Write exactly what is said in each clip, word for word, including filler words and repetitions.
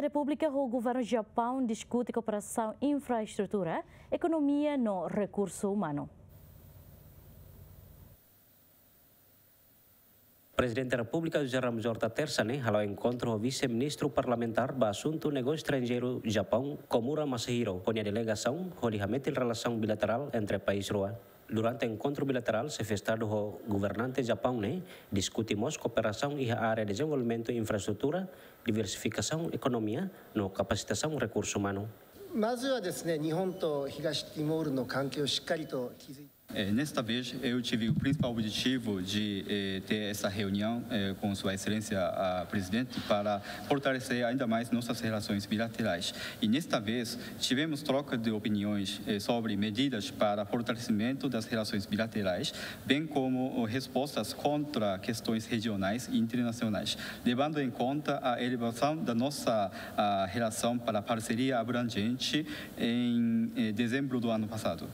Repúblika ho Governu Japaun diskute kooperasaun infraestrutura, ekonomia no rekursu umanu. Prezidente Repúblika José Ramos Horta Tersa ne'e hala'o enkontru ho Vise-Ministru Parlamentár ba Asuntu Negósiu Estranjeiru Japaun, Komura Masahiro, ho nia delegasaun, hodi hametin relasaun bilaterál entre país rua. Durante enkontru bilaterál, Xefe Estadu ho governante Japaun ne'e diskute mós kooperasaun iha área dezenvolvimentu infraestrutura, diversifikasaun ekonomia no kapasitasaun rekursu umanu. まずはですね、日本と東ティモールの関係をしっかりと築いて Eh, nesta vez, eu tive o principal objetivo de eh, ter essa reunião eh, com Sua Excelência a Presidente para fortalecer ainda mais nossas relações bilaterais. E nesta vez, tivemos troca de opiniões eh, sobre medidas para fortalecimento das relações bilaterais, bem como oh, respostas contra questões regionais e internacionais, levando em conta a elevação da nossa ah, relação para a parceria abrangente em eh, dezembro do ano passado.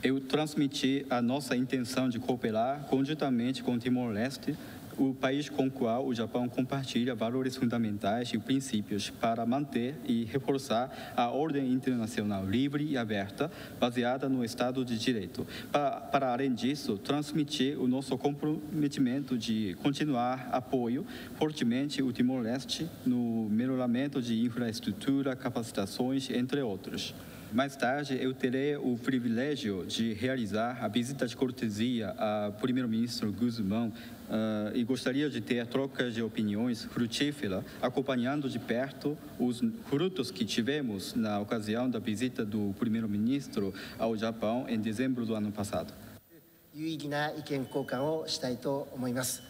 Eu transmiti a nossa intenção de cooperar conjuntamente com Timor-Leste, o país com o qual o Japão compartilha valores fundamentais e princípios para manter e reforçar a ordem internacional livre e aberta, baseada no Estado de Direito. Para, para além disso, transmitir o nosso comprometimento de continuar apoio fortemente o Timor-Leste no melhoramento de infraestrutura, capacitações, entre outros. Mais tarde, eu terei o privilégio de realizar a visita de cortesia a Primeiro-Ministro Gusmão uh, e gostaria de ter trocas de opiniões frutíferas, acompanhando de perto os frutos que tivemos na ocasião da visita do Primeiro-Ministro ao Japão em dezembro do ano passado. 有意義な意見交換をしたいと思います。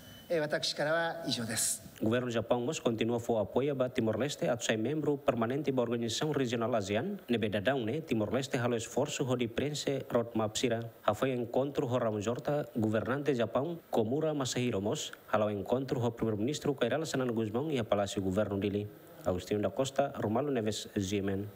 私からは以上です。 Governu Japaun mós kontinua fó apoiu ba Timor-Leste atu sai membru permanente ba organizasaun rejionál ASEAN, ne'ebé daudaun ne'e Timor-Leste halo esforsu hodi preenxe roadmap sira. Hafoin enkontru ho Ramos Horta, governante Japaun, Komura Masahiro mós hala'o enkontru ho Primeiru-Ministru Kay Rala Xanana Gusmão iha Palásiu Governu Dili. Agostinho da Costa, Romualdo Neves, G M N.